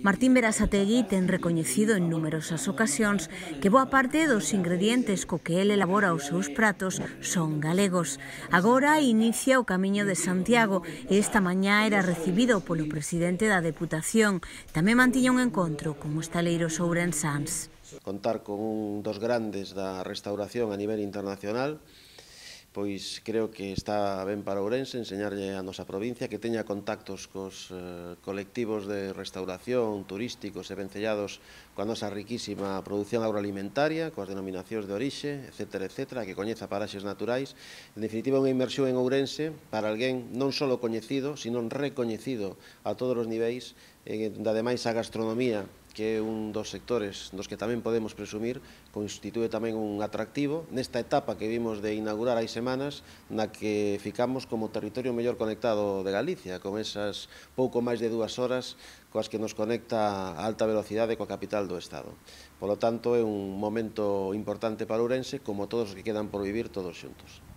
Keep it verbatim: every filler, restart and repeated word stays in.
Martín Berasategui ten recoñecido en numerosas ocasións que boa parte dos ingredientes co que el elabora os seus pratos son galegos. Agora inicia o Camiño de Santiago e esta mañá era recibido polo presidente da Deputación. Tamén mantiña un encontro con hostaleiros ourensáns. Contar con un dos grandes da restauración a nivel internacional, pois creo que está ben para Ourense enseñarlle a nosa provincia que teña contactos cos eh, colectivos de restauración, turísticos e vencellados coa nosa riquísima produción agroalimentaria, coas denominacións de orixe, etcétera, etcétera, que coñeza paraxes naturais. En definitiva, unha inmersión en Ourense para alguén non só coñecido, sino recoñecido a todos os niveis, e ademais a gastronomía, que é un dos sectores dos que tamén podemos presumir, constitúe tamén un atractivo nesta etapa que vimos de inaugurar hai semanas, na que ficamos como territorio mellor conectado de Galicia, con esas pouco máis de dúas horas coas que nos conecta a alta velocidade coa capital do Estado. Polo tanto, é un momento importante para Ourense, como todos os que quedan por vivir todos xuntos.